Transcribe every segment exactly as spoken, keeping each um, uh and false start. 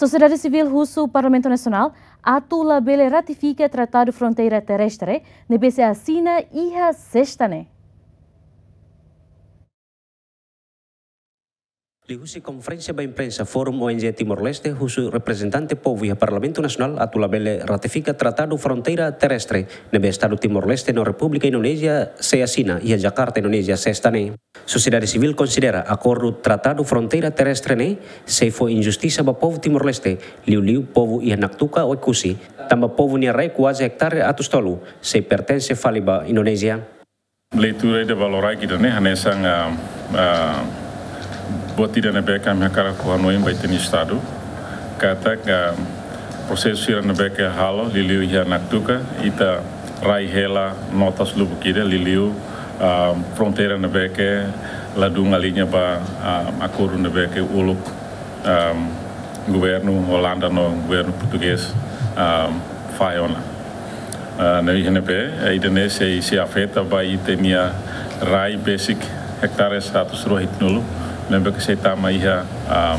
Sosiedade sivíl husu Parlamentu Nasionál atu labele ratifika Tratadu Fronteira Terrestre ne'ebé sei asina iha sesta ne'e. Liuhusi konferénsia ba imprensa, Fórum O N G Timor-Leste husu reprezentante povu iha Parlamentu Nasionál atu labele ratifika Tratadu Fronteira Terrestre ne'ebé Estadu Timor-Leste no Repúblika Indonézia sei asina iha Jakarta, Indonézia, sesta ne'e. Sosiedade sivíl konsidera akordu Tratadu Fronteira Terrestre ne'e sei fó injustisa ba povu Timor-Leste, liuliu povu iha Naktuka, Oekusi, tanba povu nia rai kuaze ektare atus tolu sei pertense fali ba Indonézia. Leitura ida ba loraik ida-ne'e hanesan, ah, ah, buat ida ne'ebé ke ami hakarak hanoin ba ita-nia Estadu. Katak, ah, prosesu sira ne'ebé ke halo, liuliu iha Naktuka, ita rai hela notas lubuk ida, liuliu, ah, fronteira ne'ebé ke ladún aliña ba, ah, akordu ne'ebé ke uluk, ah, governu Olanda no governu portugés, ah, fahe ona. Ah, no iha ne'ebé, eh, ida-ne'e sei, sei afeta ba ita-nia rai besik ektares atus rua hitunulu, ne'ebé ke sei tama iha, ah,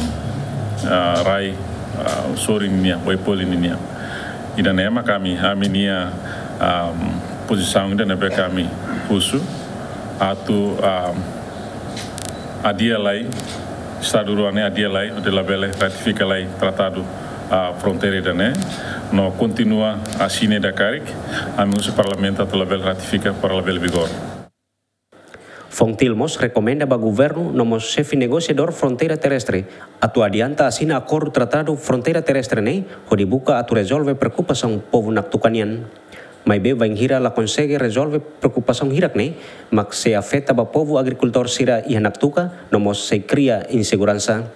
ah, rai, ah, sorin nian, Oepoli nian. Ida-ne'e mak ami, ami-nia, ah, pozisaun ida ne'ebé ke ami husu atu, ah, adia lai, Estadu rua ne'e adia lai, hodi labele ratifika lai tratadu, ah, fronteira ida-ne'e, no kontinua asina ida karik, ami husu Parlamentu atu labele ratifika para labele vigor. FONGTIL mós rekomenda ba governu no mós xefe negosiadór fronteira terrestre atu adianta asina akordu Tratadu Fronteira Terrestre ne'e hodi buka atu rezolve preokupasaun povu Naktuka nian. Maibé bainhira la konsege rezolve preokupasaun hirak-ne'e, mak sei afeta ba povu agrikultór sira iha Naktuka, no mós sei kria inseguransa.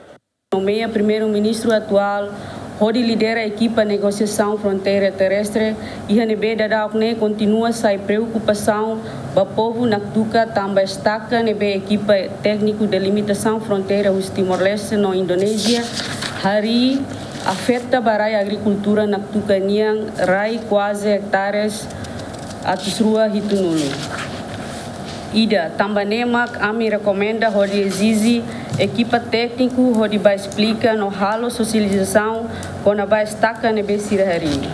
Nomeia Primeiru-Ministru atuál hodi lidera ekipa negosiasaun fronteira terrestre, iha ne'ebé daudaun ne'e kontinua sai preokupasaun ba povu Naktuka tanba estaka ne'ebé ekipa tékniku delimitasaun fronteira husi Timor-Leste no Indonézia harii afeta ba rai agrikultura Naktuka nian, rai kuaze ektares atus rua hitunulu. Ida, tanba ne'e mak ami rekomenda hodi ezije ekipa tékniku hodi bá esplika no halo sosializasaun kona-ba estaka ne'ebé sira harii.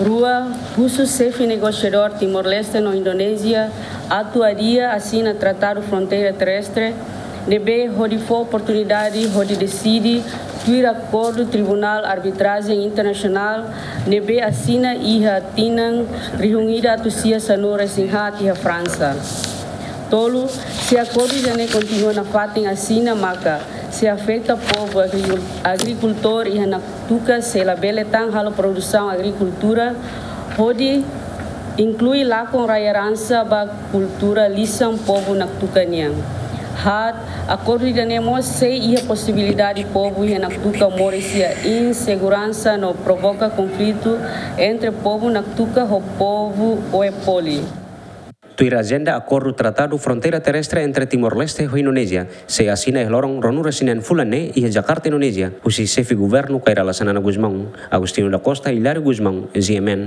Rua, husu xefe negosiadór Timor-Leste no Indonézia atu adia asina Tratadu Fronteira Terrestre ne'ebé hodi fó oportunidade hodi deside tuir akordu Tribunál Arbitrajen Internasionál ne'ebé asina iha tinan rihun ida atus sia sanulu-resin-haat iha Fransa. Tolu, se akordu ida-ne'e kontinua nafatin asina, maka sei afeta povu agri-, agrikultór iha Naktuka sei labele tan halo produsaun agrikultura, hodi inklui lakon rai eransa ba kultura lisan povu Naktuka nian. Haat, akordu ida-ne'e mós sei iha posibilidade povu iha Naktuka moris iha inseguransa no provoka konflitu entre povu Naktuka ho povu Oepoli. Tuir ajenda, akordu Tratadu Fronteira Terrestre entre Timor-Leste ho Indonézia sei asina iha loron ruanulu-resin-neen fulan ne'e iha Jakarta, Indonézia, husi xefe governu Kay Rala Xanana Gusmão, Agostinho da Costa, Hilário Gusmão, G M N.